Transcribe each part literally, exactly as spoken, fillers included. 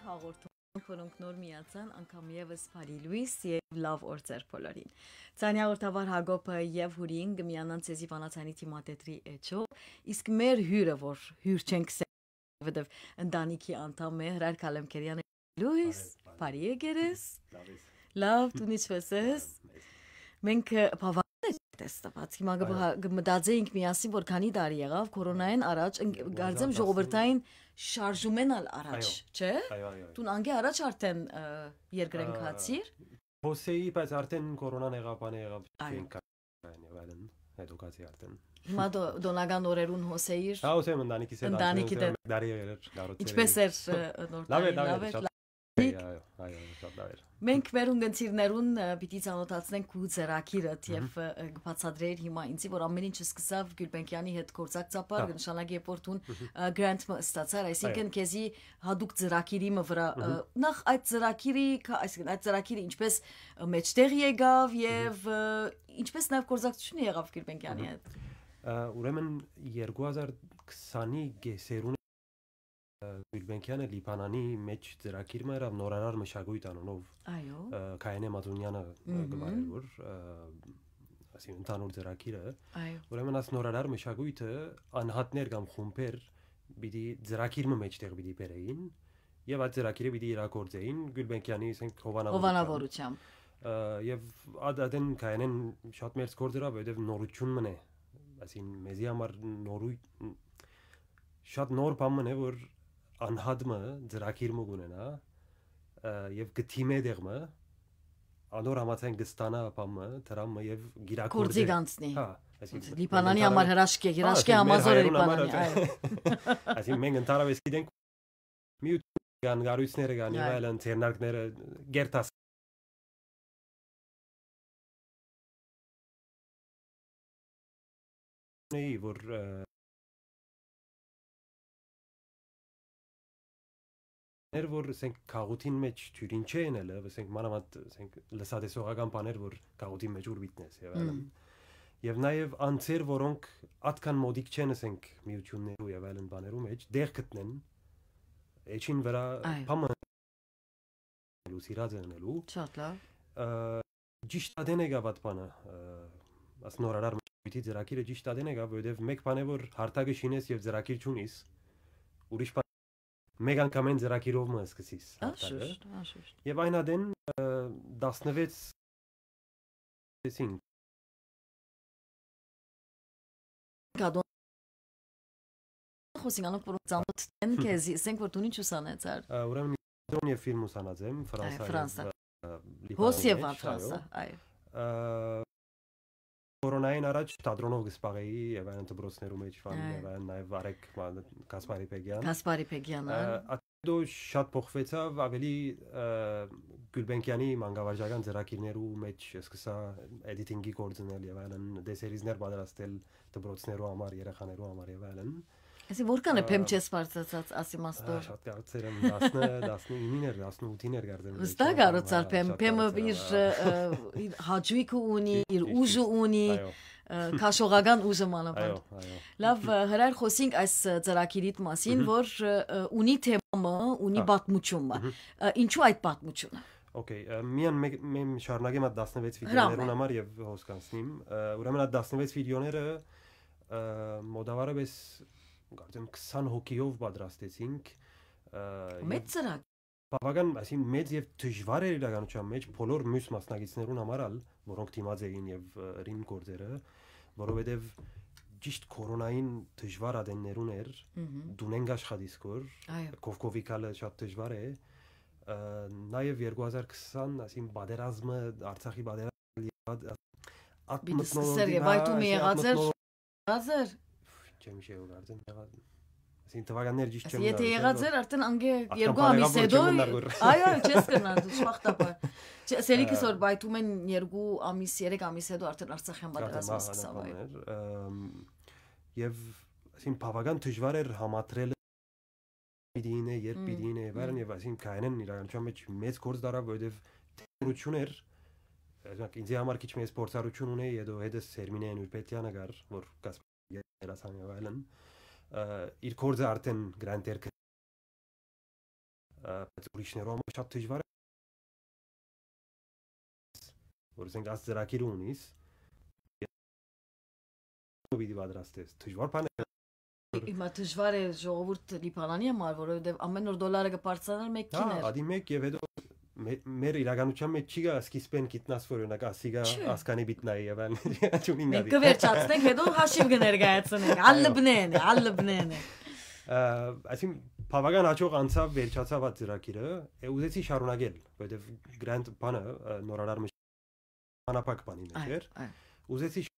Հաղորդում, որոնք նոր միացան, անգամ եւս բարի լոյս եւ լաւ օր ձեր բոլորին։ Ցանի հաղորդավար Հակոբը եւ Հուրին կը միանան ձեզի Վանաձայնի թիմադետրի էջով, իսկ մեր հիւրը, որ հիւր չենք սե-, որովհետեւ ընտանիքի անդամ է, Հրայր Քալեմքերյանը, լոյս, բարի եկեր ես։ Լաւ, դուն ինչպե՞ս ես։ Մենք, ը, բավական է տեսնված։ Հիմա կը, այո, բհա-, կը մտածեինք միասին, որ քանի տարի եղաւ կորոնայէն առաջ, ըն-, կարծեմ, ժողովրդային շարժումէն ալ առաջ, այո, չէ՞։ Այո, այո, այո։ Դուն անկէ առաջ արդեն, ը, երկրէն, ա, գացիր։ Հոսեի, բայց արդեն կորոնան եղաւ, բանը եղաւ, այո, չենք գա-, եւ այլն, հետո գացի արդեն։ Հիմա դո-, դոնական օրերուն հոսեիր։ Հա, հոսեի ընտանիքիս հետ, ընտանիքիդ հետ։ Մեկ տարի եղեր էր, գառուցել էի։ Ինչպե՞ս էր, ը, նոր տարին, լաւ էր, լաւ էր, լաւ էր, շատ լաւ էր։ Լավ։ Այո, այո, այո, շատ լավ էր։ Մենք մեր ունգընտիրներուն, ը, պիտի ծանոթացնենք քու ծրագիրդ, մհմ, եւ, ը, ը, կբացատրեիր հիմա ինձի, որ ամեն ինչ սկսաւ Գուլբենկեանի հետ գործակցաբար, հա, կը նշանակի, երբ որ դուն, մհմ, ը, grant մը ստացար, այսինքն, այո, քեզի հատուկ ծրագիրի մը վրա, ը, մհմ, նախ այդ ծրագիրի, քա-, այսինքն, այդ ծրագիրը ինչպես, ը, մեջտեղ եկաւ, մհմ, եւ, ը, ինչպես նաեւ գործակցությունը եղաւ Գուլբենկեանի, մհմ, հետ։ Ա, ուրեմն երկու հազար քսանի կեսերուն, ը, Գուլբենկեանը Լիբանանի մէջ ծրագիր մը ըրաւ նորարար մշակոյթ անունով, այո, ը, Քայենե Մածունյանը, ը, կը, մհմ, վարեր որ, ը, ասին ընդհանուր ծրագիրը։ Այո։ Ուրեմն աս նորարար մշակոյթը անհատներ կամ խումբեր պիտի ծրագիր մը մէջտեղ պիտի բերեին եւ այդ ծրագիրը պիտի իրագործեին Գուլբենկեանի, ասենք, հովանավորությամբ։ Հովանավորությամբ։ Ը, եւ ա-, ադեն Քայենեն շատ մեծ գործ ըրաւ, որովհետեւ նորություն մնե, ասին մեզի համար նորու-, շատ նոր բան մնե, որ անհատ մը ծրագիր մը կունենա, ը, եւ կը թիմէ դեղ մը, անոր համաձայն կը ստանայ բան մը, դրամ մը եւ կիրագործէ։ Գործի կանցնի։ Հա, այսինքն Լիբանանի մենք համար ընդհանրապես հրաշք է, հա, հրաշք է այսինքն մեր Համազորը հայերուն համար Լիբանանի, այսինքն այո։ Այսինքն մենք ընդհանրապես գիտենք, միութ կան, կառույցները կան, եւ այո, այլն, ձեռնարկները, գերտաս-, որ, ը, ներ որ, ասենք, գաղութին մէջ թիւր ինչ է ելը, ասենք, մանաւանդ, ասենք, լսատեսողական բաներ, որ գաղութին մէջ ուր միտնես, եւ այլն։ Մմ։ Եվ նաեւ անձեր, որոնք ատկան մոդիկ չեն, ասենք, միութիւններու եւ այլն բաներու մէջ, դեղ գտնեն, էջին վրա, այո, բան մը, սիրած է ընելու։ Շատ լավ։ Ը, ճիշտ ադեն եկաւ այդ բանը, ը, աս նորարար մշակոյթի ծրագիրը ճիշտ ադեն եկաւ, որովհետեւ մեկ բան է, որ հարթակը շինես եւ ծրագիր չունիս, ուրիշ բան, մեկ անգամէն ծրագիրով մը սկսիս հարթակը։ Անշուշտ, անշուշտ։ Եւ այն ադեն, ը, տասնվեց, ասին, Կադոն-, խոսենք անոնք, որոնք ծանոթ են քեզի, ասենք, որ դուն ինչ ուսանեցար։ Ա, ուրեմն թատրոն եւ ֆիլմ ուսանած եմ, այ, Ֆրանսա Ֆրանսա։ Եւ, ա, Լիբանանի Հոս եւ մէջ, Ֆրանսա, այո։ Այո։ Ա, կորոնային առաջ թատրոնով կը զբաղեի եւ այն դպրոցներու մէջ, Ֆան, այո, եւ այն նաեւ Արեգ Մա-, Գասպարի Բեգյան։ Գասպարի Բեգյան, ա, այո։ Ա, դո շատ փոխվեցաւ, ավելի, ա, Գուլբենկեանի մանկավարժական ծրագիրներու մէջ սկսա էդիթինգի գործ ընել եւ այլն, դեսերիզներ պատրաստել դպրոցներու համար, երեխաներու համար եւ այլն։ Այսինքն, որքան է, ա, բեմ չես բարձրացած, ասի մաստոր։ Ա, շատ կարծեր եմ, տասնը, տասնինին էր, տասնութին էր կարծեմ, վստահ չեմ կարծացար, ա, բեմ, շատ բեմը կարծեր եմ, իր, ա, ը, իր հաճույքը ունի, ճիշտ, իր ճիշտ, ուժը ճիշտ, ունի, այո, ը, քաշողական ուժը մանավանդ։ Այո, այո։ Լավ, ը, Հրայր, խոսենք այս, ը, ծրագիրիդ մասին, մհմ, որ, ը, ը, ունի թեմա մը, ունի, հա, պատմություն մը։ Մհմ։ Ը, ինչու այդ պատմությունը։ Okay, ը, միան մեկ, մեմ շարունակեմ այդ տասնվեց վիդեոներուն համար եւ հոս կանցնիմ։ Ը, ուրեմն այդ տասնվեց վիդեոները, ը, մոտավարապես, կարծեմ, քսան հոգիով պատրաստեցինք, ը, մեծ, եւ ծրագիր։ Բավական, այսինքն, մեծ եւ դժվար էր իրականության մեջ բոլոր մյուս մասնակիցներուն համար ալ, որոնք դիմած էին եւ, ը, ըրին գործերը, որովհետեւ ճիշտ կորոնային դժվար ադեններուն էր, մհմ, դունեն կաշխատիս կոր, այո, կովկովի գալը շատ դժվար է, ը, նաեւ երկու հազար քսան, այսինքն, պատերազմը, Արցախի պատերազմը, ատ-, ատ-, պիտի մթնոլորտին, սկսեր, հա, Վայթումը այսինքն, եղած էր, ատ-, մթնոլորտ-, եղած էր։ Չեմ հիշելու, կարծեմ, եղած, այսինքն, թվականներ ճիշտ չեմ, եթե հիշել, եղած որ էր, արդեն անգե ատկան երկու բան ամիս եղավ, որ հետո, չեմ մնար, որ այո, այո, չես կրնար, դու, շուախտաբար։ Չէ, սելիքս, ը, որ Վայթումէն երկու ամիս, երեք ամիս հետո արդեն Արցախյան պատերազմը, ատկան, ատկան սկսավ, այո, բաներ, ըմ, եւ, այսինքն, բավական դժվար էր համադրել պիտի ինէ, երբ պիտի, մմ, ինէ, եւ այլն, մմ, եւ այսինքն Քայենեն իրականության մեջ մեծ գործ դարավ, որովհետեւ դերություն էր, օրինակ, ինձի համար քիչ մը փորձառություն ունէ, հետո հետս Սերմինե Նուրպետյանը կար, որ Կասպարի դերասան եւ այլն, ը, իր գործը արդեն Grand Air Credit Ա, բայց ուրիշներու համար շատ դժուար է, որ ասենք, այս ծրագիրը ունիս, պիտի պատրաստես, դժուար բան է։ Հիմա դժուար է ժողովուրդ Լիբանանի համար, որովհետեւ ամեն օր դոլարը կբարձրանար մեկ Հա, դիներ։ Ադի մեկ եւ հետո մե-, մեր իրականության մեջ չի գա սկիզբեն գիտնաս, որ օրինակ ասի գա Չէ։ Ասկանի պիտնայի եւ այլն, չունին Մենք գալի։ կվերջացնենք, հետո հաշիվ կներկայացնենք։ Այո։ Ալլբնեն է, ալլբնեն է։ Ա, այսինքն բավական հաջող անցաւ, վերջացաւ այդ ծրագիրը, է, ուզեցի շարունակել, որովհետեւ Grand բանը, ա, նորարար մշ-, անապակ բանի մեջ Այ, էր։ այ։ Ուզեցի շ-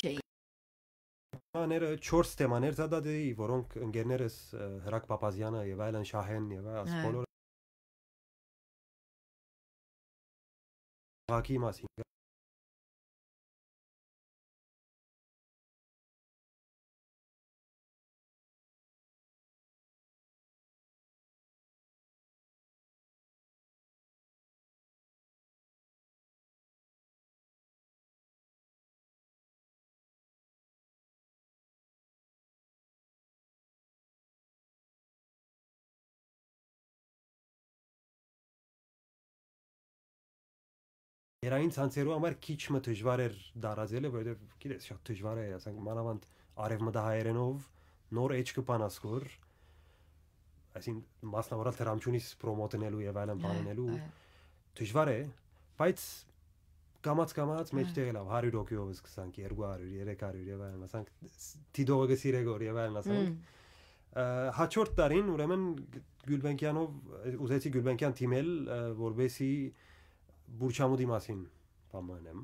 Չէ։ Թեմաները, չորս թեմաներ զատած էի, որոնք ընկերներս, ը, Հրակ Փափազյանը եւ այլն, Շահեն եւ այս Այ։ բոլոր քաղաքի մասին։ Երային ցանցերու համար քիչ մը դժուար էր դարածելը, որովհետեւ, գիտես, շատ դժուար է, ասենք, մանավանդ արեւմտահայերենով նոր էջ կը բանաս, որ, այսինքն, մասնավորալ դրամչունից պրոմոթ ընելու եւ այլն Այ, բան ընելու այ։ դժուար է, բայց կամած-կամած Այ։ մեջտեղ ելաւ, հարիւր հոգիով սկսանք, երկու հարիւր, երեք հարիւր եւ այլն, ասանք, ս-, դիտողը կը սիրէ գոր եւ այլն, ասանք։ Մմ։ Ը, հաջորդ տարին, ուրեմն, Գ-, Գուլբենկյանով, ուզեցի Գուլբենկյան դիմել, ը, որպեսի Բուրչամուտի մասին բան անեմ։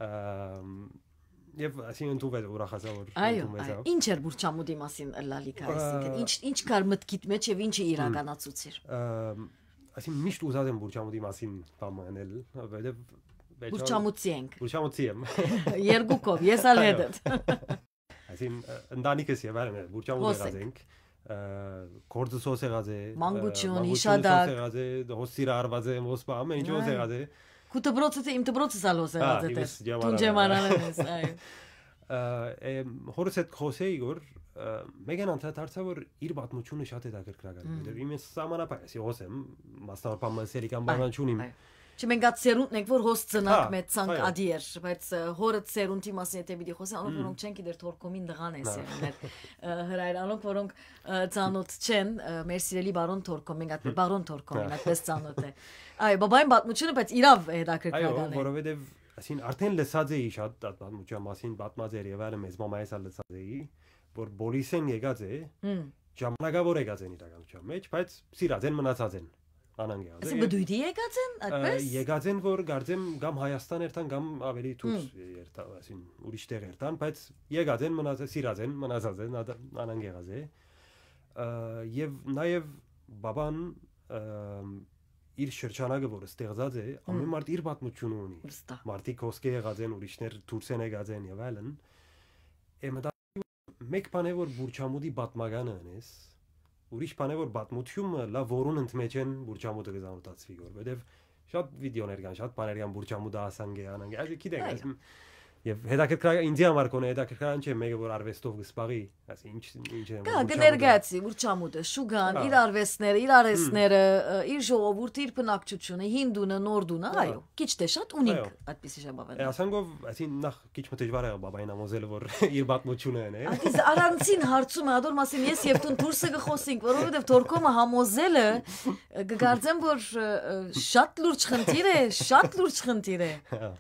Ըմ, եւ այսինքն ընդունվեց, ուրախացա, որ Այո, ընդունվեցավ։ այո։ Ինչ էր Բուրչամուտի մասին ըլլալիք, այսինքն, Ա, ինչ, ինչ կար մտքիդ մեջ եւ ինչը Հմ։ իրականացուցիր։ Ըմ, այսինքն միշտ ուզած եմ Բուրչամուտի մասին բան անել, որովհետեւ վերջալ- Բուրչամուտցի ենք։ Բուրչամուտցի եմ։ Երկուքով, ես ալ Այո։ հետդ։ Այսինքն, ը, ընտանիքս եւ այլն, Բուրչամուտ Հոս եղած ենք։ ենք, ը, գործս հոս եղած է, ը, Մանկություն, մանկությունս հոս հիշատակ։ եղած է, հոս սիրահարված եմ, հոս պա-, ամեն ինչ հոս Այ։ եղած է։ Քու դպրոցը, իմ դպրոցս ալ հոս Հա, եղած է, իմս դեր։ Ջեմարան Տուն ջեմարանն ես, այ։ Ը, է, հորս հետ խոսեի, որ, ը, մեկն անդրադարձա, որ իր պատմությունը շատ հետաքրքրական է, Մմ։ որովհետև իմս սահմանափակ, այսի հոս եմ, մասնավորապես մսելի կամ Այ, բանան չունիմ։ այ։ Չէ, մենք այդ սերունդն ենք, որ հոս ծնանք, Հա, մեծանք այո։ ադի էր, բայց, ը, հորդ սերունդի մասին եթե պիտի խոսեմ, անոնք, Մմ։ որոնք չեն գիտեր, Թորքոմին տղան է Հա։ սերունդներ, ը, Հրայր, անոնք, որոնք, ը, ծանոթ չեն, ը, մեր սիրելի բարոն Թորքոմ, մենք այդպես, Հմ։ բարոն Թորքոմին Հա։ այդպես ծանոթ է։ Այո, բաբային պատմությունը, բայց իրավ Այո, հետաքրքրական է։ որովհետև, այսինքն, արդեն լսած էի շատ այդ պատմության մասին, պատմած էր և այլն, մեծ մամայիս ալ լսած էի, որ պոլիսեն եկած է, Հմ։ ժամանակավոր եկած են իրականության մեջ, բայց սիրած են, մնացած են, անհանգ եղած Այսինքն են, և բդույթի եկած են, ը, այդպես։ եկած են, որ կարծեմ կամ Հայաստան երթան, կամ ավելի դուրս Հմ։ երթան, այսինքն, ուրիշ տեղ երթան, բայց եկած են, մնաց-, սիրած են, մնացած են, ադա-, անհանգ եղած է։ Ը, և նաև բաբան, ը, իր շրջանակը, որ ստեղծած է, Հմ։ ամեն մարդ իր պատմությունը ունի։ Վստահ։ Մարդիկ հոսքե եղած են, ուրիշներ դուրս են եկած են և այլն։ Է մտա-, մեկ բան է, որ Բուրչամուտի պատմականը ընես, ուրիշ բան է, որ պատմությունը լա, որուն ընդմեջեն Բուրչամուտը կզանոթացվի, որ, որովհետև շատ վիդեոներ կան, շատ բաներ կան, Բուրչամուտը ասանկ է, անանկ է, այսինքն, գիտեք, Այո։ այսինքն, և հետաքրքրական, ինձի համար կոնե հետաքրքրական չէ, մեկը, որ արվեստով կսպաղի, այսինքն, ինչ, ինչ է, Կա, որ Բուրչամուտը կներկայացի Բուրչամուտը, շուգան, Հա։ իր արվեստները, իր Հմ։ արհեստները, ը, իր ժողովուրդը, իր բնակչությունը, հին դունը, նոր դունը, Հա։ այո, քիչ թե շատ ունինք Այո։ այդպիսի ժապավեններ։ Է, ասանք ով, այսինքն, նախ քիչ մը դժվար եղավ բաբային համոզել, որ իր պատմությունը են, է։ Ատիս առանցին հարցում է, ադոր մասին ես և դուն դուրսը կխոսենք, որովհետև Թորքոմը համոզելը, ը, կգարձեմ, որ, ը, ը, շատ լուրջ խնդիր է, շատ լուրջ խնդիր է։ Հա։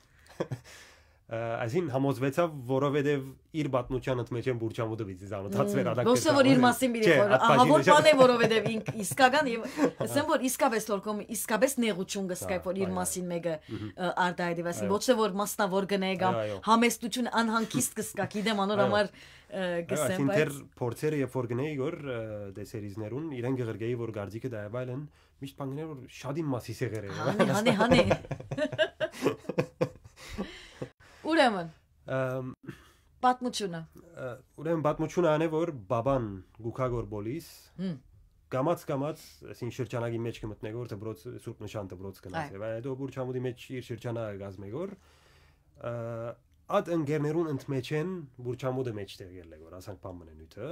Ը, այսինքն, համոզվեցավ, որովհետև իր պատմության ընդմեջեն Բուրչամուտը պիտի զանոթացվեր, Հմ, ադակ ոչ թե որ իր կերտաբանել։ մասին պիտի Չէ, խորը, այդ ահա բաժինը որ չէ։ բան է, որովհետև ինք իսկական, և ասեմ, որ իսկապես Թորքոմը իսկապես նեղություն կսկայ, Հա, որ իր այո, մասին մեկը, Մհմ։ ը, արտահայտի, այսինքն, Այո։ ոչ թե որ մասնավոր գնե կամ Այո, այո։ համեստություն անհանգիստ կսկա, գիտեմ, անոր Այո։ համար, ը, Այո, կսեմ, այսինքն, բայց դեռ փորձերը, երբ որ գնեի, որ, ը, դե սերիզներուն, իրեն կղրկեի, որ գարձիկը դա և այլն, միշտ բան գներ, որ շատ իմ մասի սեղեր է։ Հանե, հանե, հանե։ Ուրեմն, Ըմ, պատմությունը։ ը, ուրեմն պատմությունը անե, որ բաբան գուքա գոր պոլիս, Հմ։ կամաց-կամաց, այսինքն, շրջանակի մեջ կմտնե, որ դպրոց, Սուրբ Նշան դպրոց գնաց։ Այ։ Եվ այդ Բուրչամուտի մեջ իր շրջանակը կազմե, որ, ը, Այդ ընկերներուն ընդմէջէն Բուրչամուտը մէջտեղ ելլեգոր, ասանք բան մնե նյութը։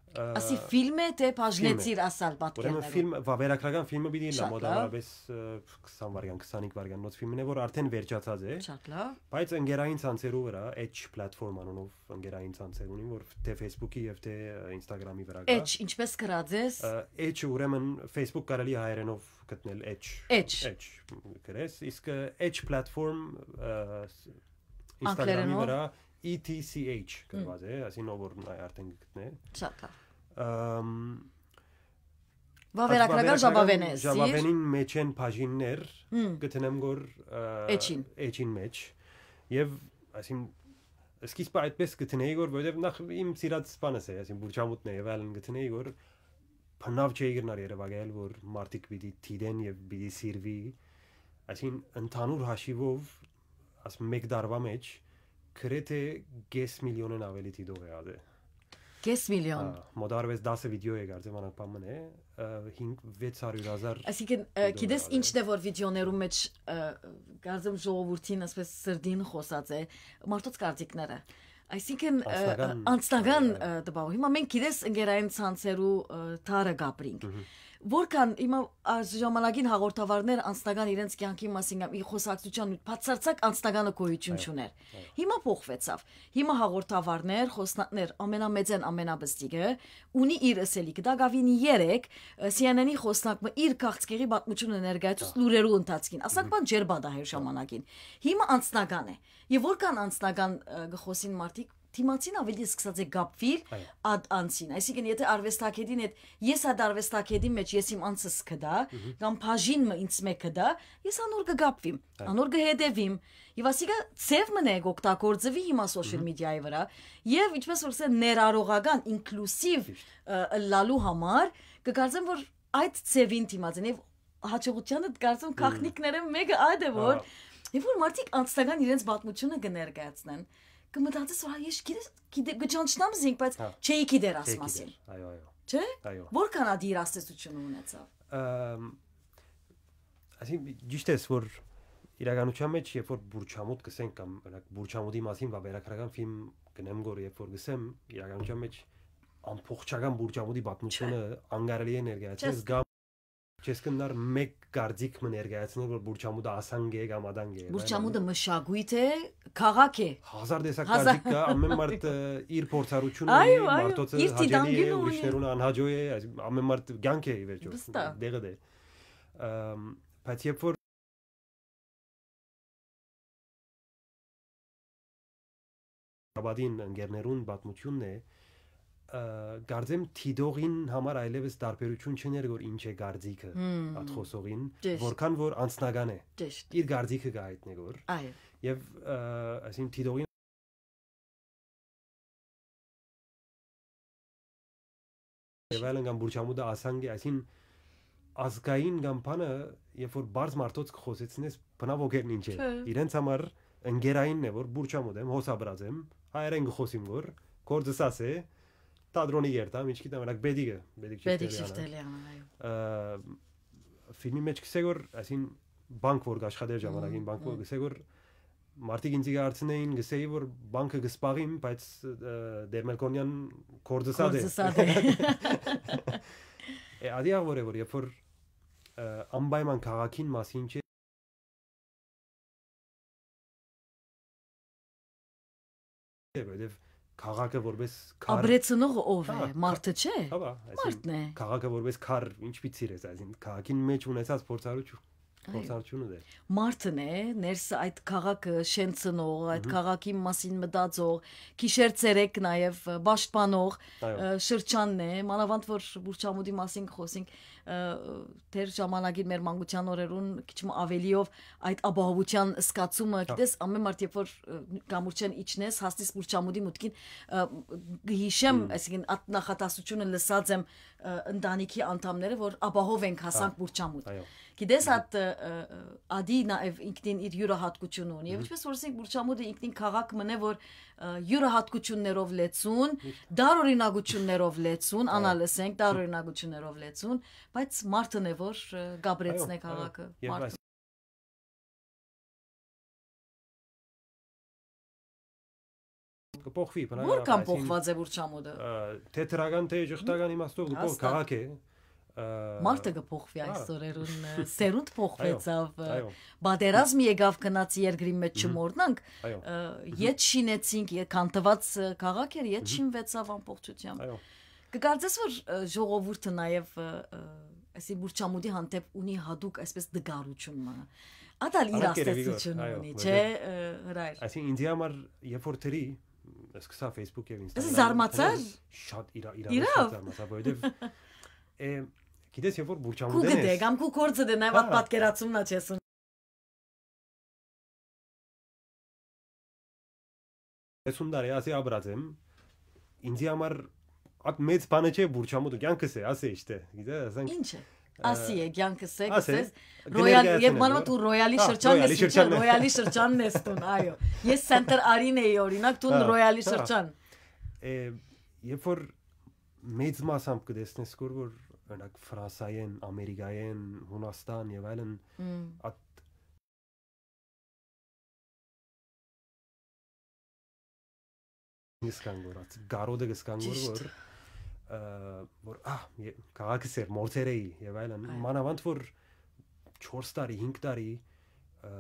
Ա, Ասի ֆիլմ է, թե բաժնեցիր ասալ պատկերներով։ Ուրեմն ֆիլմ, վավերագրական ֆիլմը պիտի ըլլայ, մոտավորապես, ը, քսան վայրկյան, քսանհինգ վայրկյանոց ֆիլմն է, որ արդեն վերջացած է։ Շատ լավ։ Բայց ընկերային ցանցերու վրա, Edge platform անունով ընկերային ցանցերուն, որ թե Facebook-ի եւ թե, ը, Instagram-ի վրա կա։ Edge, ինչպես գրած ես։ Ը, Edge, ուրեմն Facebook կարելի հայերենով գտնել Edge։ Edge։ Edge գրես, իսկ, ը, Edge platform, ը, Instagram-ի Անգլերենով։ Վրա E T C H գրված է, այսինքն ով որ նայ արդեն կգտնէ։ Շատ լավ։ Ամ, Վավերագրական Այդ ժապաւէն է, ժապաւէնին մեջ են բաժիններ, Հմ։ Կդնեմ գոր, ը, Էջին։ Էջին մեջ։ Եվ, այսինքն, սկիզբը այդպես կդնեի գոր, որովհետև նախ իմ սիրած սպանս է, այսինքն, Բուրչամուտն է, եւ այլն կդնեի գոր, բնավ չէի գնար երևակայել, որ մարդիկ պիտի դիտեն եւ պիտի սիրվի, այսինքն, ընդհանուր հաշիվով, աս մեկ տարվա մեջ, գրեթե կես միլիոնեն ավելի դիտող է ատե։ Կես միլիոն։ Հա, մոտարվես դասը վիդեո է կարծեմ, անակ բան մնե, ը, հինգ, վեց հարյուր հազար Այսինքն, ը, վիդեոներ գիտես ատե։ Ինչն է, որ վիդեոներու մեջ, ը, կարծեմ ժողովուրդին, ասպես սրդին խոսած է, մարդոց կարծիքները։ Այսինքն, ը, Անձնական, անձնական, այո, այո։ ը, տպաვა։ Հիմա մենք գիտես ընկերային ցանցերու, ը, թարը կապրինք։ Մհմ։ Որքան հիմա այս ժամանակին հաղորդավարներ անձնական իրենց կյանքի մասին կամ ի խոսակցության բացարձակ անձնականը գոյություն Այո, չուներ։ Այո։ Հիմա փոխվեցավ։ Հիմա հաղորդավարներ, խոսնակներ, ամենամեծեն, ամենապստիկը, ունի իր ըսելիքը։ Դա գավին երեկ, ը, C N N-ի խոսնակը իր քաղցկեղի պատմությունը ներկայացուց Դա։ Լուրերու ընթացքին։ Ասանք Մհմ։ Բան ջեր բադահեր ժամանակին։ Հիմա անձնական է։ Եվ որքան անձնական, ը, կխոսին մարդիկ, դիմացին ավելի սկսած է կապվել Այո։ Այդ անձին։ Այսինքն, եթե արվեստագետին հետ, ես այդ արվեստագետի մեջ ես իմ անձս կդա, Մհմ։ Կամ բաժին մը ինձ մե կդա, ես անոր կկապվիմ, Այո։ Անոր կհետևիմ։ Եվ ասիկա ձև մնե կօգտագործվի հիմա social Մհմ։ Media-ի վրա։ Եվ ինչպես որ ասեն, ներառողական, inclusive, Ճիշտ։ Ը, ըլլալու համար, կկարծեմ, որ այդ ձևին դիմաց են։ Եվ հաճողութեանը կարծեմ Մհմ։ Գաղտնիքները մեկը այդ է, որ Հա։ Երբ որ մարդիկ անձնական իրենց պատմությունը կներկայացնեն, կմտածես, որ հա, ես գիտես, գիտե-, կճանչնամ զինք, բայց Հա։ Չէի գիտեր աս Չէի ասին։ Գիտեր, այո, այո։ Չէ՞։ Այո։ Որքան ադի իր ազդեցությունը ունեցավ։ Ամ, այսինքն, ճիշտ ես, որ իրականության մեջ, երբ որ Բուրչամուտ կսենք կամ, օրինակ, Բուրչամուտի մասին վավերագրական ֆիլմ կնեմ գոր, երբ որ կսեմ, իրականության մեջ ամբողջական Բուրչամուտի պատմությունը Չէ։ Անկարելի է ներկայացնել, Չես կամ չես կնար մեկ կարծիք մը ներկայացնել, որ Բուրչամուտը ասանկ է կամ ադանկ է, Բուրչամուտը մշակույթ է, քաղաք է։ Հազար տեսակ Հազար կարծիք կա, ամեն մարդ, ը, իր փորձառությունը Այո, ունի, այո, մարդոցը իր հաճելի է, դիտանկյունը ունի։ Ուրիշներուն անհաճոյ է, այս ամեն մարդ կյանք է ի վերջո, Վստահ։ Դեղը դե։ Ամ, բայց երբ որ Աբադին ընկերներուն պատմությունն է, ը, կարծեմ դիտողին համար այլևս տարբերություն չներ, որ ինչ է կարծիքը Հմ։ Այդ խոսողին, Ճիշտ։ Որքան որ անձնական է։ Ճիշտ։ Իր կարծիքը կհայտնի որ։ Այո։ Եվ, ը, այսինքն դիտողին Եվ այլն կամ Բուրչամուտը ասանկ է, այսինքն ազգային կամ բանը, երբ որ բարձ մարդոց կխոսեցնես, բնավ օգերն ինչ է։ Չէ։ Իրենց համար ընկերայինն է, որ Բուրչամուտ եմ, հոս ապրած եմ, հայերեն կխոսիմ որ, գործս աս է, թատրոնի երթամ, ինչ գիտեմ, օրինակ, Բեդիկը, Բեդիկ Բեդիկ Շիֆթելյանը։ Շիֆթելյանը, այո։ Ը, ֆիլմի մեջ կսե որ, այսինքն, բանկ որ կաշխատեր ժամանակին, Մհմ, բանկ որ մհմ։ Կսե որ մարդիկ ինձի կհարցնեին, կսեի որ բանկը կսպաղիմ, բայց, ը, Դեր Մելքոնյան կորձսատ է։ Կորձսատ է։ Է, ադի աղ որ է որ, երբ որ, ը, անպայման քաղաքին մասին չէ, որովհետև քաղաքը որպես քար Աբրեցնողը ով է։ Հա, Մարդը քա-, չէ։ Հա, բա, այսինքն Մարդն է։ Քաղաքը որպես քար ինչ պիտի սիրես, այսինքն քաղաքին մեջ ունեցած փորձառություն, Այո։ Փորձառությունը դեր։ Մարդն է, ներսը այդ քաղաքը շենցնող, այդ Մհմ։ Քաղաքի մասին մտածող, գիշեր ցերեկ նաև պաշտպանող, Այո։ Ը, շրջանն է, մանավանդ որ Բուրչամուտի մասին կխոսենք, ը, դեր ժամանակին մեր մանկության օրերուն քիչ մը ավելիով այդ ապահովության զգացումը, Հա։ Գիտես, ամեն մարդ երբ որ, ը, կամուրջեն իջնես, հասնես Բուրչամուտի մուտքին, ը, գհիշեմ, Հմ։ Այսինքն այդ նախատասությունը լսած եմ, ը, ընտանիքի անդամները, որ ապահով ենք հասանք Հա։ Բուրչամուտ։ Այո։ Գիտես, Հմ։ Այդ, ը, ը, ադի նաև ինքնին իր յուրահատկությունը ունի։ Եվ Հմ։ Ինչպես որ ասենք, Բուրչամուտը ինքնին քաղաք մնե, որ, ը, յուրահատկություններով լեցուն, Միշտ։ Դարօրինակություններով լեցուն, Հա։ Անալ ասենք, Հմ։ Դարօրինակություններով լեցուն, բայց մարդն է, որ, ը, գաբրեցնե Այո, այո։ Քաղաքը, Եվ մարդն այս Կը փոխուի, բնական Որքան ափ, այսին, փոխուած է Բուրչամուտը։ Ը, թէ դրական, թէ ժխտական իմաստով կը փոխ-, Հաստատ։ քաղաք է, ը, Մարդը կը փոխուի Հա։ այս օրերուն, ը, սերունդ փոխուեցաւ, ը, այո։ Պատերազմ եկաւ, գնաց երկրի մեջ Մհմ։ չմոռնանք, Այո։ ը, Մհմ։ ետ շինեցինք, ե-, քանթված, ը, քաղաք էր, ետ Մհմ։ շինվեցաւ ամբողջությամբ։ Այո։ Կը կարծես որ, ը, ժողովուրդը նաեւ, ը, ը, այսի Բուրչամուտի հանդեպ ունի հատուկ այսպես դգարութիւն մը։ Ատալ իր Անակ երևի որ, աստեցութիւնը այո, ունի, որ չէ, դե- ը, Հրայր։ Այսինքն ինձի համար երբ որ դրի, սկսա Facebook եւ Instagram, Զարմացար։ Շատ իրա-, իրավեշտ Իրավ։ զարմացա, որովհետեւ, ը, գիտես, երբ որ Քու Բուրչամուտեն գտե, ես կամ քու կորձը դե նաեւ Հա։ Պատկերացումն ա չես Հեսուն տարի ասի ապրած եմ, ինձի համար ատ մեծ բանը չէ Բուրչամուտը, կյանքս է, ասի իշտե, գիտե, ասենք, Ինչ է։ ը, Ասի է, կյանքս է, ասի, գսես, կներկայացնեմ, Ռոյալ, երբ մանավանդ որ դու Ռոյալի Հա, շրջանն Ռոյալի ես, ինչ է, շրջանն է։ Ռոյալի շրջանն ես տուն, այո։ Ես Սենտր Արին էի, օրինակ, տուն Հա, Ռոյալի հա։ շրջան։ Ը, երբ որ մեծ մասամբ կտեսնես, որ, որ, օրինակ, Ֆրանսայեն, Ամերիկայեն, Հունաստան եւ այլն, Մմ։ ատ- Գսկան գորած, գարոդը գսկան գոր, Ճիշտ։ որ, ը, որ, ահ, ե-, քաղաքս էր, մորցեր էի, եւ այլն։ Այո։ Մանավանդ որ չորս տարի, հինգ տարի, ը,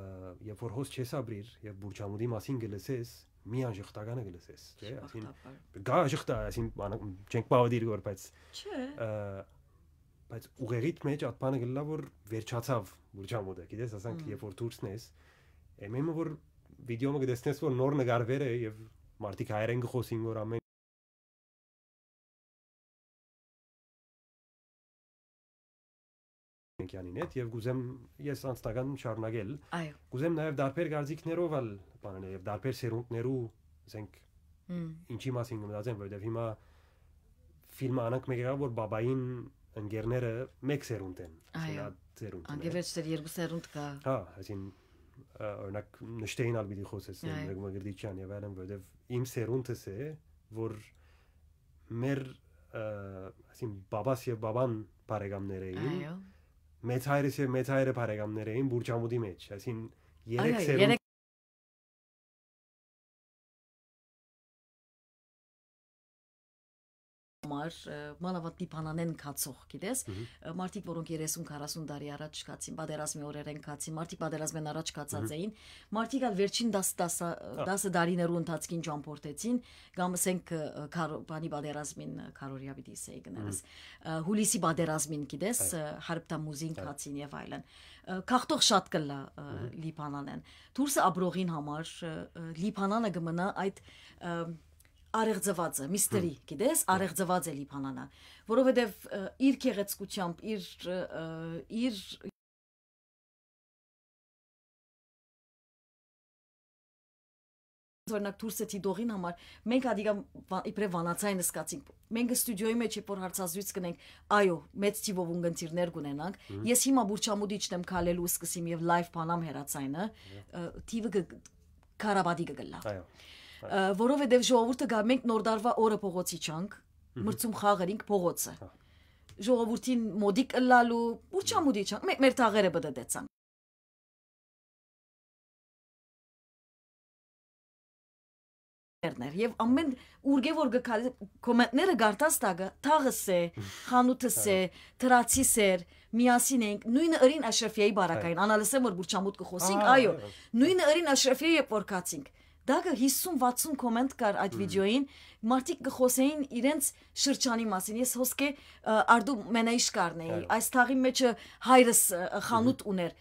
երբ որ հոս չես ապրիր, եւ Բուրչամուտի մասին կը լսես, միան ժխտականը կը լսես, չէ՞, Շաբախ այսին, տապար։ գա ժխտա, այսին, բանը, չենք բաւը դիր գոր, բայց, Չէ։ ը, բայց ուղեղիդ մեջ ատ բանը կլլա, որ վերջացավ Բուրչամուտը, գիտես, ասենք, Մմ։ երբ որ դուրսն ես, է, մեմը որ վիդեոմը կտեսնես, որ նոր նկարվեր է, եւ մարդիկ հայերեն կը խոսին, որ ամեն Մենքյանին հետ, եւ կուզեմ ես անձնական շարունակել։ Այո։ Կուզեմ նաեւ դարբեր կարծիքներով ալ բանանել, եւ դարբեր սերունդներու, ասենք, Մմ։ ինչի մասին կը մտածեմ, որովհետեւ հիմա ֆիլմը անանք մեկ եղաւ, որ բաբային ընկերները մեկ սերունդ են, Այո։ այսինքն, ատ սերունդն է։ Անգևերջ դեռ երկու սերունդ կա։ Հա, այսին, ը, օրինակ, նշտեին ալ պիտի խոսեցնեմ, Այո։ Մկ-, Մկրտիչյան եւ այլն, որովհետեւ իմ սերունդս է, որ մեր, ը, այսին, բաբաս եւ բաբան բարեկամներ էին, Այո։ մեծ հայրս եւ մեծ հայրը բարեկամներ էին Բուրչամուտի մեջ, այսին, երեք Այո, սերունդ երեք համար, ը, մանավանդ Լիբանանեն գացող, գիտես, Մհմ։ ը, մարդիկ, որոնք երեսուն քառասուն տարի առաջ գացին, պատերազմի օրերեն գացին, մարդիկ պատերազմեն առաջ գացած Մհմ։ էին, մարդիկ ալ վերջին դաս, դասա-, Հա։ դասը տարիներու ընթացքին ճամփորդեցին, կամ ասենք, ը, քարո-, բանի պատերազմին, ը, քարորիա պիտի ասեի կներես, Մհմ։ ը, հուլիսի պատերազմին, գիտես, Այո։ ը, Հարբտամուզին Այո։ գացին եւ այլն։ Ը, գաղթող շատ կլա, ը, Մհմ։ Լիբանանեն։ Դուրսը ապրողին համար, ը, ը, Լիբանանը կմնա այդ, ը, արեղծվածը, միստերի, Հմ։ գիտես, Հա։ արեղծված է Լիբանանը, որովհետև, ը, իր գեղեցկությամբ, իր, ը, ը, իր օրինակ դուրսը դիտողին համար, մենք ադիգա վա-, իբրև վանացային սկացինք։ Մենք ստուդիոյի մեջ, երբ որ հարցազրույց կնենք, այո, մեծ թիվով ունգընտիրներ կունենանք։ Մհմ։ Ես հիմա Բուրչամուտի իջնեմ քալելու, սկսեմ եւ լայվ բանամ հեռացայինը, Այո։ ը, թիվը կը-, քարաբադի կը գլլայ։ Այո, այո։ Ը, որովհետև ժողովուրդը գա, մենք Նոր տարվա օրը փողոցի չանք, Մհմ։ մրցում խաղերինք փողոցը։ Հա։ Ժողովուրդին մոդիկ ըլլալու, Բուրչամուտի չանք, մե-, մեր թաղերը պտը դեցան։ Ներ, ներ։ Եվ ամեն ուրգե որ գ-, կա-, կոմենտները գարտաս տակը, թաղս է, խանութս է, Այո։ դրացիս էր, միասին ենք, նույնը ըրին Աշրեֆիայի բարակային, Այո։ անալսեմ որ Բուրչամուտ կը խոսենք, Ահա, այո, այո։ նույնը ըրին Աշրեֆիայի երբ որ կացինք։ Դակը հիսուն վաթսուն կոմենտ կար այդ Մհմ։ վիդեոյին, մարդիկ կը խոսեին իրենց շրջանի մասին, ես հոսկե, ը, արդու մենայիշ կարնեի, Այո։ այս թաղի մեջը հայրս, ը, խանութ Մհմ։ ուներ,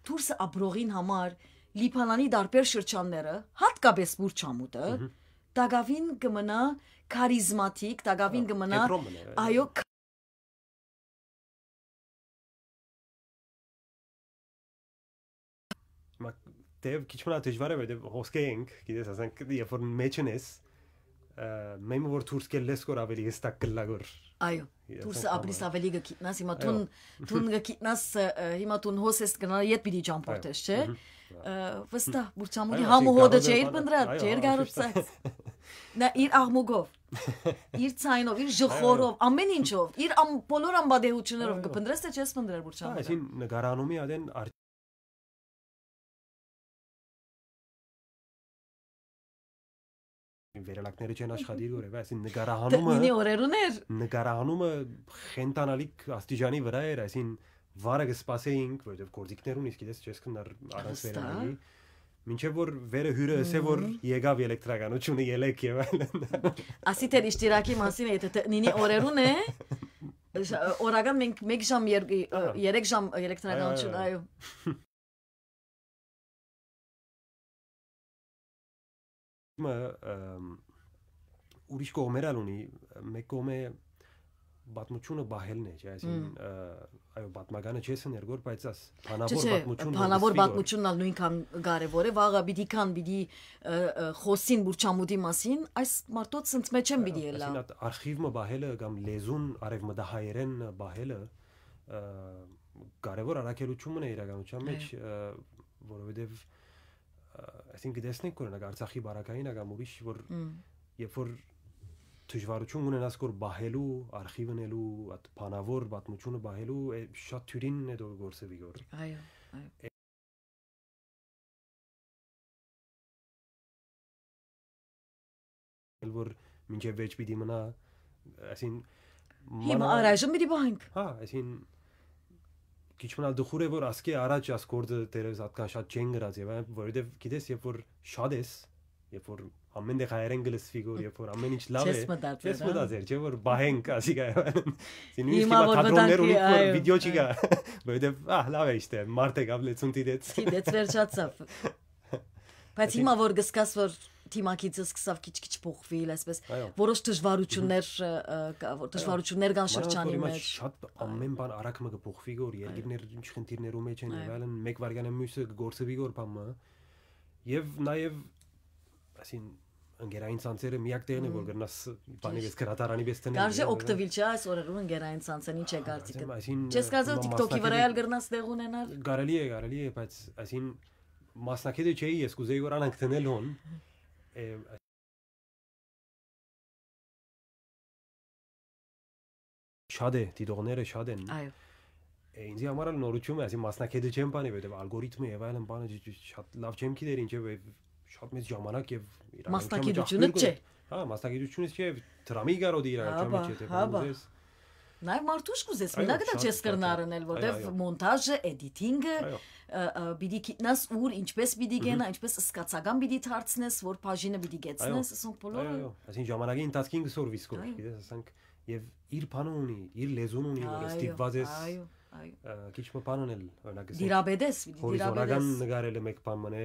դուրսը ապրողին համար Լիբանանի տարբեր շրջանները, հատկապես Բուրչամուտը, Մհմ։ տակավին կմնա քարիզմատիկ, տակավին Հա, կմնա, կեդրոն մնա, այո, այո։ Հիմա դեռ քիչ մնա դժվար է, որովհետև հոսքե ենք, գիտես, ասենք, երբ որ մեջն ես, ը, մեմը որ դուրս կելլես կոր ավելի հստակ կլլա գոր։ Այո, Ես դուրսը ասենք ապրիս համար։ ավելի կգիտնաս, հիմա Այո։ դուն, դուն կգիտնաս, ը, ը, հիմա դուն հոս ես կնա, ետ պիտի ճամփորդես, Այո։ չէ՞։ Մհմ։ Ը, վստահ, Բուրչամուտի Այո, համը ասենք, հոդը գարոդը չէր բան-, բնդրած, այո, չէր այո, գարուցած։ Նա իր աղմուկով, իր ցայնով, իր ժխորով, Այո, այո։ ամեն ինչով, իր ամ-, բոլոր անպատեհություններով Այո, կփնտրես, թե չես փնտրեր Բուրչամուտը։ Այսին նկարանումի ադեն ար-, Վերելակները չեն աշխատիր, որ է, այսին նկարահանումը, Նինի օրերուն էր։ Նկարահանումը խենթանալիք աստիճանի վրա էր, այսին վարը կը սպասեինք, որովհետև գործիքներ ունի, գիտես, չես կնար առանց Վստահ։ Վերանալի։ Մինչև որ վերը հյուրը ասե, որ Մհմ։ Եկավ էլեկտրականությունը ելեք եւ այլն։ Ասի թե իշտիրակի մասին է, եթե Նինի օրերուն է, շ-, օրական մենք մեկ ժամ, եր-, Ահա։ երեք ժամ էլեկտրականություն, Այո, այո, այո։ Մը, ըմ, ուրիշ կողմեր ալ ունի, մէկ կողմէ պատմությունը պահելն է, չէ՞, այսինքն, Մմ։ ը, այո, պատմականը չես ներգոր, բայց աս բանավոր Չէ, չէ, պատմություն որ բանավոր լսվի, որ պատմությունն ալ նույնքան կարեւոր է, վաղը պիտի կան, պիտի, ը, ը, խոսին Բուրչամուտի մասին, այս մարդոց ընդ մեջ են պիտի Այո, ելա։ այսինքն, այդ արխիվ մը պահելը կամ լեզուն արևմտահայերեն պահելը, ը, կարեւոր առաքելություն մնա իրականության մեջ, Այո։ ը, որովհետեւ, ը, այսինքն, կտեսնենք, օրինակ, Արցախի բարակային ա կամ ուրիշ, որ Մմ։ երբ որ դժվարություն ունենաս, որ պահելու, արխիվ ընելու, այդ բանավոր պատմությունը պահելու, է, շատ թիւրին է դու գործը վիգոր։ Այո, այո։ Էլ որ մինչև վեճ պիտի մնա, այսին Հիմա մանավանդ առայժմ պիտի պահենք։ Հա, այսին քիչ մնալ դխուր է, որ ասկէ առաջ աս գործը դերևս ատկան շատ չեն գրած եւ այն, որովհետեւ գիտես, երբ որ շատ ես, երբ որ ամեն տեղ հայերեն գլսվի գոր, երբ որ ամեն ինչ լավ Չես է, մտածեր, չես հա։ մտածեր, չէ՞ որ պահենք, ասի գա։ Այսին նույնիսկ Հիմա հիմա որ թատրոններ մտանքի, ունի, որ այո, վիդեո չի այո։ գա, որովհետեւ, ահ, լավ է, իշտե, մարդ եկավ, լեցուն դիտեց։ Դիտեց, վերջացավ։ Բայց Այսին հիմա որ գսկաս, որ թիմակիցը սկսավ քիչ-քիչ փոխվել, այսպես, Այո։ որոշ դժվարություններ, ը, ը, կա, որ դժվարություններ կան Մանավանդ շրջանի որ հիմա մեջ։ շատ Այո։ ամեն բան արագ մը կփոխվի գոր, Այո։ երկիրներ ինչ խնդիրներու մեջ են Այո։ եւ այլն, մեկ վայրկյան է մյուսը կգործվի գոր բան մը։ Եվ նաեւ, այսին, ընկերային ցանցերը միակ տեղն է, որ Մմ։ կրնաս բանի Ճիշտ։ պես գրատարանի պես դնել Կարժե եւ այլն։ օգտվել, չէ՞, այս օրերուն ընկերային ցանցեն, ինչ է կարծիքդ։ Այսինքն, այսին, Չես կարծեր, մա-, TikTok-ի վրա մասնակցի- ալ կրնաս տեղ ունենալ։ Կարելի է, կարելի է, բայց այսին մասնակիցը չէի, ես կուզեի որ անանք դնել հոն։ Է, շատ է, դիտողները շատ են։ Այո։ Է, ինձի համար ալ նորություն է, այսին մասնակիցը չեմ բանի, որովհետև ալգորիթմը եւ այլն բանը չ-, չ-, շատ լավ չեմ գիտեր, ինչեւ է շատ մեծ ժամանակ եւ իրականության մեջ Մասնակիցությունդ աղբյուր չէ։ կը-, հա, մասնակիցությունից չէ, դրամի կարոտ իրականության Հաբա, մեջ, եթե հաբա։ բան ուզես։ Նաեւ մարդուշ կուզես, Այո, մենակ դա շատ, չես շատ, կրնար շատ։ անել, Այո, որտեվ այո։ մոնտաժը, էդիթինգը, Այո։ ը, ը, պիտի գիտնաս ուր, ինչպես պիտի Մհմ։ գնա, ինչպես սկացական պիտի դարձնես, որ բաժինը պիտի Այո, գեցնես, ասոնք բոլորը այո, այո։ Այսինքն ժամանակի ընթացքին կսորվի սկոր, Այո։ գիտես, ասենք, եւ իր բանը ունի, իր լեզուն ունի, որ Այո, ստիպված ես, այո, այո։ ը, քիչ մը բան անել, օրինակ, ասենք, Դիրաբեդես, պիտի հորիզոնական դիրաբեդես։ նկարելը մեկ բան մնե,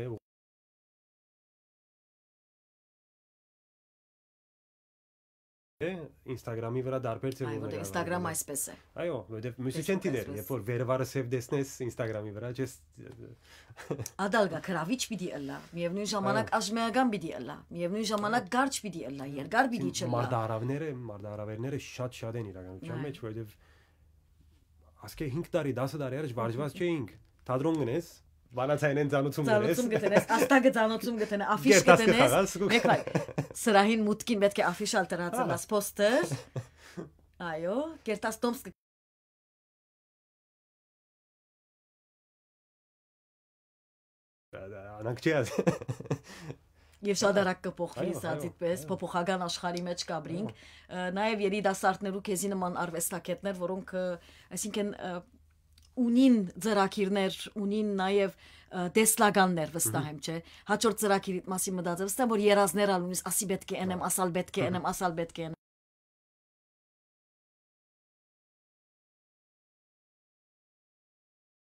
Է, Instagram-ի վրա դարբեր Այո, ձևով որտեղ նկարվելու Instagram է։ այսպես է։ Այո, որտեղ մյուսը Facebook չեն դիտեր, այսպես։ երբ որ վերևարը սև տեսնես Instagram-ի վրա, չես Ադալգա գրավիչ պիտի ըլլա, միևնույն ժամանակ Այո։ աժմեական պիտի ըլլա, միևնույն ժամանակ Այո։ կարճ պիտի ըլլա, երկար պիտի Այսինքն չըլլա։ մարտահարավները, մարտահարավերները շատ շատ են իրականության Այո։ մեջ, որովհետև ասկե հինգ տարի, դասը տարի առաջ վարժված չէինք, թատրոն գնես, բանացայինեն ծանուցում գնես։ Ծանուցում գտնես, աստակը ծանուցում գտնես, աֆիշ Գերտաս գտնես, կխաղաս, կու- մեկ այլ, սրահին մուտքին պետք է աֆիշ ալ դրած Ահա։ ըլլաս, պոստեր։ Այո, գերտաս տոմս կը- Անանք չի ազ։ Եվ շատ արագ կփոխվի Այո, սա այո, դիտպես, այո։ փոփոխական աշխարհի մեջ կաբրինք։ Այո։ Ը, նաև երիտասարդներու քեզի նման արվեստագետներ, որոնք, ը, այսինքն, ը, ունին ծրագիրներ, ունին նաև, ը, տեսլականներ, վստահ Մհմ։ եմ, չէ՞։ Հաջորդ ծրագիրի մասին մտածել, վստահ եմ, որ երազներ ալ ունիս, ասի պետք է ընեմ, Ահա։ ասալ պետք է Մհմ։ ընեմ, ասալ պետք է ընեմ։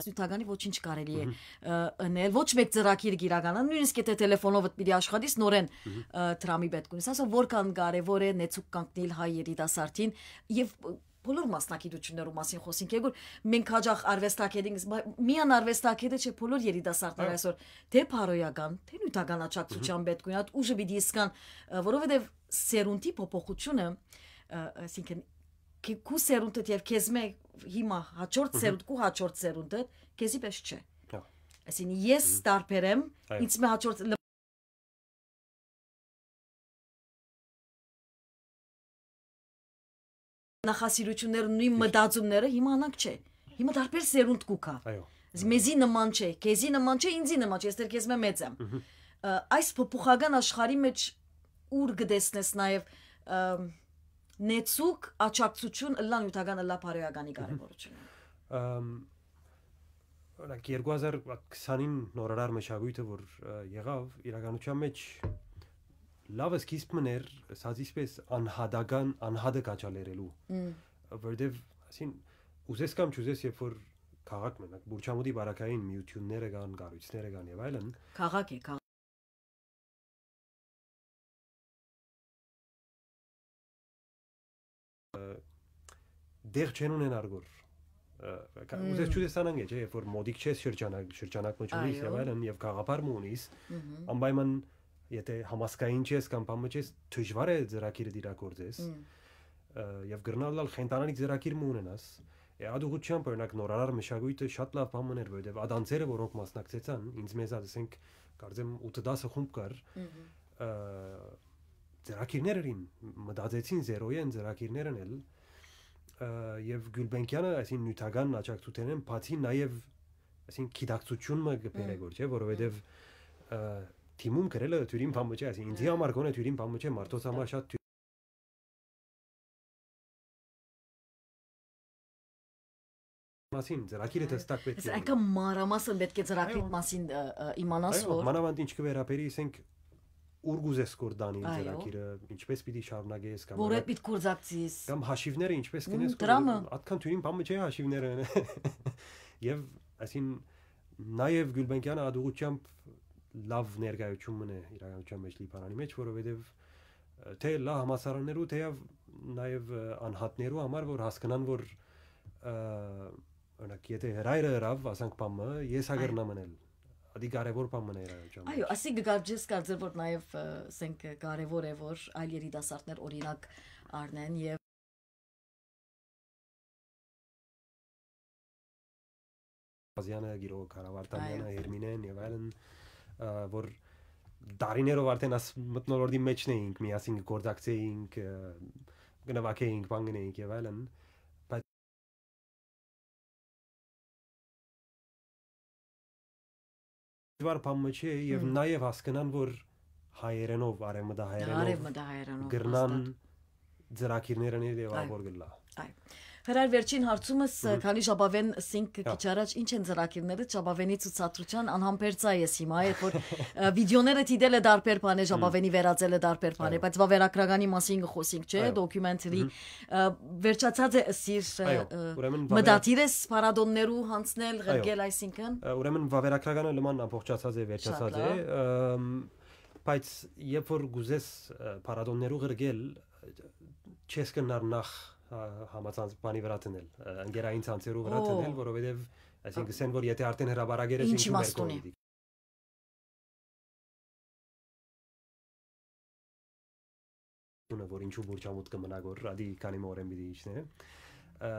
Նիւթականի ոչինչ կարելի է, Մհմ։ ը, ընել, ոչ մեկ ծրագիր կիրականան, նույնիսկ եթե տելեֆոնովդ պիտի աշխատիս, նորեն, Մհմ։ ը, դրամի պետք ունիս։ Ասա, որքան կարևոր է նեցուկ կանգնիլ հայ երիտասարդին և, ը, բոլոր մասնակցություններու մասին խոսենք, երբ որ մենք հաճախ արվեստագետին, բա-, միան արվեստագետը չէ, բոլոր երիտասարդները Այո։ այսօր դե բարոյական, դե նյութական աջակցության Մհմ։ պետք ունի, այդ ուժը պիտի իսկան, ը, որովհետև սերունդի փոփոխությունը, ը, այսինքն, քե-, քու սերունդդ և քեզ մե հիմա հաջորդ Մհմ։ սերունդ, քու հաջորդ սերունդդ, քեզի պես չէ։ Հա։ Այսինքն, ես Մհմ։ տարբեր եմ, Այո։ ինձ մե հաջորդ լ-, նախասիրությունները, նույն Ճիշտ։ մտածումները հիմա անանք չէ։ Հիմա տարբեր սերունդ կուքա։ Այո։ Այսինքն, մեզի նման չէ, քեզի նման չէ, ինձի նման չէ, ես դեռ քեզ մե մեծ եմ։ Մհմ։ Ը, այս փոփոխական աշխարհի մեջ Ուր կը տեսնես նաեւ, ըմ, նեցուկ աջակցություն ըլլա նիւթական, ըլլա բարոյականի կարեւորությունը։ Ըմ, օրինակ, երկու հազար քսանին նորարար մշակոյթը որ, ը, եղաւ, իրականության մեջ լաւ սկիզբ մըն էր, ասած, իսկպէս անհատական, անհատը քաջալերելու։ Մմ։ Որտեւ, ասին, ուզես կամ չուզես, երբ որ քաղաք մենակ, Բուրչամուտի բարակային միութիւնները կան, կառոյցները կան եւ այլն, քաղաք է, քաղաք։ Ը, դեղ չեն ունենար գոր։ Ը, կա-, Մմ։ ուզես չուզես անանկ է, չէ, երբ որ մոդիկ չես շրջանակ, շրջանակ մը չունիս եւ Այո։ այլն, եւ գաղափար մը ունիս, Մհմ։ անպայման, եթե համասկային չես կամ բան մը չես, դժուար է ծրագիրը դիրագործես։ Մմ։ Ը, եւ կրնալ լալ խենթանալիք ծրագիր մը ունենաս։ Է, ադուղությամբ, օրինակ, նորարար մշակոյթը շատ լավ բան մըն էր, որովհետեւ ադանցերը, որոնք մասնակցեցան, ինձ մեզա, ասենք, կարծեմ, ութը տասը խումբ կար, Մհմ։ ը, ծրագիրներ էին, մտածեցին զերոյեն ծրագիրներ են էլ, ը, եւ Գուլբենկյանը, այսին, նիւթական աջակցութենէն բացի նաեւ, այսին, գիտակցություն մը կը բերէ Մմ։ գոր, չէ, որովհետեւ, Մմ։ ը, թիմում գրելը դիւրին բան մը չէ, այսին, ինձի Մմ։ համար գոնե դիւրին բան մը չէ, մարդոց Մտա։ համար շատ դիւր-, մասին, ծրագիրը Այո։ դստակ պետք Ես է այնքան մանրամասն պետք է ծրագիրի Այո։ մասին, ը, ը, իմանաս, Այո, որ մանավանդ ինչ կը վերաբերի, ասենք, ուր կուզես գոր դանի Այո։ ծրագիրը, ինչպես պիտի շարունակես, կամ Որ այդ այդ պիտի գործակցիս։ կամ հաշիվները ինչպես Մմ, կնես, դրամը։ որ ատքան դիւրին բան մը չէ հաշիվները։ Եւ, այսին, նաեւ Գուլբենկյանը ադուղությամբ լաւ ներկայություն մնե իրականության մեջ Լիբանանի մեջ, որովհետեւ, ը, թէ լա համասարաններու, թեեւ նաեւ, ը, անհատներու համար, որ հասկնան, որ, ը, օրինակ, եթե հրայրը հրաւ, ասանք բան մը, ես հա Այո։ կրնամ անել։ Ադի կարեւոր բան մնա իրականության Այո, մեջ։ Ասի կը կարծես կարծեր, որ նաեւ, ը, ասենք, կարեւոր է, որ այլ երիտասարդներ օրինակ առնեն եւ Ազյանը, գիրող Քարավարտանյանը, Այո։ Հերմինեն եւ այլն, ը, որ դարիներով արդեն աս մթնոլորտի մեջն էինք, միասին կգործակցեինք, ը, կնվագեինք, բան գնեինք եւ այլն, բայց դժուար բան մը չէ եւ Մմ։ նաեւ հասկնան, որ հայերենով, արեւմտահայերենով Արեւմտահայերենով, կրնան հաստատ։ ծրագիրներ անել եւ Այո։ ահոր գլա։ Այո։ Հրայր, վերջին հարցումս, Մհմ։ քանի ժապաւէն սինք Հա։ քիչ առաջ, ինչ են ծրագիրները ժապաւէնի ցուցադրության, անհամբերց ա ես հիմա, երբ որ, ը, վիդեոները դիտել է դարբեր բան է, Մհմ։ ժապաւէնի վերածել է դարբեր բան է, Այո։ բայց վավերագրականի մասին կը խոսենք, չէ, Այո։ Documentary, Մհմ։ ը, վերջացած է ըսիր, ը, Այո, ը, ուրեմն վավերա- մտադիր ես փառատոններու յանցնել, Այո։ ղրկել, այսինքն։ Ը, ուրեմն վավերագրականը լման ամբողջացած է, Շատ վերջացած է, լավ։ ըմ, բայց երբ որ կուզես, ը, փառատոններու ղրկել, չես կնար նախ, ա, համացանց բանի վրա դնել, ը, ընկերային ցանցերու վրա Օ։ դնել, որովհետև, այսինքն, Ա, կսեն, որ եթե արդեն հրապարակեր ես, Ինչ ինչու մեր իմաստուն է։ կողմից պիտի, որ ինչու Բուրչամուտ կը մնա գոր, ադի քանի մը օրեն պիտի իջնե։ Ա,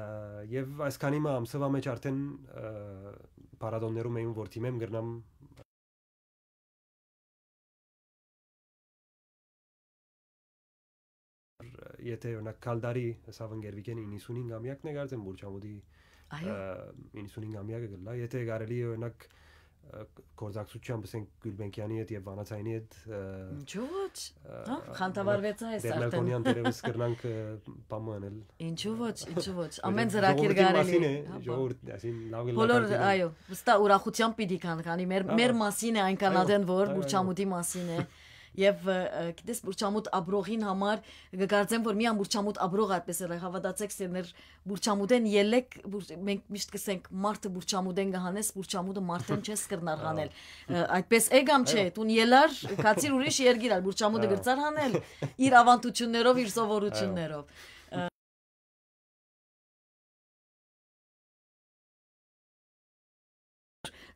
և այս քանի մը ամսվա մեջ արդեն, ա, փառատոններում եմ, որ դիմեմ, կրնամ եթե, օրինակ, Քալդարի, սա Վնգերվիկեն իննսունհինգ ամյակն է, կարծեմ, Բուրչամուտի, Այո։ ը, իննսունհինգ ամյակը կլա, եթե կարելի է, օրինակ, ը, գործակցությամբ, ասենք, Գուլբենկյանի հետ և Վանացյանի հետ, ը, Ինչու ոչ։ ը, Հա, խանդավառվեցա ես Դերմելկոնյան արդեն։ Դերևս կրնանք, ը, բան մը անել։ Ինչու ոչ, ինչու ոչ, Որովհետև ամեն ծրագիր ժողովրդին կարելի է, մասին է, հա, ժողովուրդ, այսին լավ գլա Բոլոր, կարծեմ։ այո, վստահ ուրախությամբ պիտի կան, քանի մեր, Այո, մեր մասին է այնքան այո, ադեն, որ այո, այո։ Բուրչամուտի մասին է։ Եվ, ը, ը, գիտես, Բուրչամուտ աբրողին համար կկարծեմ, որ միան Բուրչամուտ աբրող այդպես էր, հավատացեք, սերներ Բուրչամուտեն ելեք, Բուր-, մենք միշտ կսենք, մարդը Բուրչամուտեն կհանես, Բուրչամուտը մարդեն չես կրնար Ահա։ Հանել։ Ը, այդպես է կամ չէ, Այո։ Դուն ելար, կացիր ուրիշ երկիր ալ, Բուրչամուտը Ահա։ Գրծար հանել, իր ավանդություններով, իր սովորություններով։ Այո։ Ը,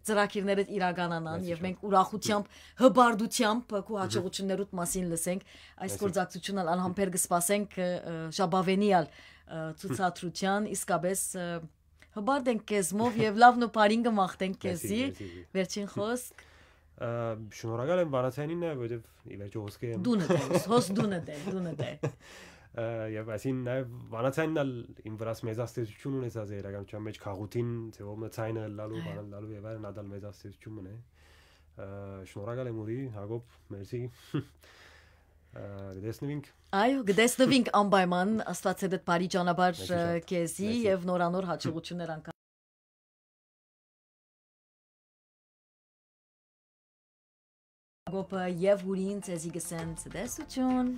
ծրագիրներդ իրականանան Մերսի և շատ։ մենք ուրախությամբ, հպարտությամբ քու Մհմ։ հաջողություններուդ մասին լսենք։ Այս Մերսի։ Գործակցությունն ալ անհամբեր կսպասենք, ը, ը, ժապավենի ալ, ը, ցուցադրության, իսկապես, ը, հպարտ ենք քեզմով և լավն ու բարին կմաղթենք Մերսի, քեզի։ Մերսի, մերսի։ Վերջին խոսք։ Ա, շնորհակալ եմ Վանացյանին նաև, որովհետև ի վերջո հոսքը եմ։ Դունդ է, հոս, հոս դունդ է, դունդ է։ Ա, և այսին նաև Վանացյանն ալ իմ վրաս մեծ ազդեցություն ունեցած է իրականության մեջ, քաղութին, ձևով մը ցայնը լալու, Այո։ բանը լալու և այլն, ադալ մեծ ազդեցություն մնե։ Ա, շնորհակալ եմ ուրի, Հակոբ, մերսի։ Ա, կտեսնուինք։ Այո, կտեսնուինք անպայման, Աստված հետ բարի ճանապարհ Մեկի շատ։ քեզի Մեկի։ Եվ նորանոր հաջողություններ անկա Գոպը և ուրին ցեզի կսեն ցտեսություն։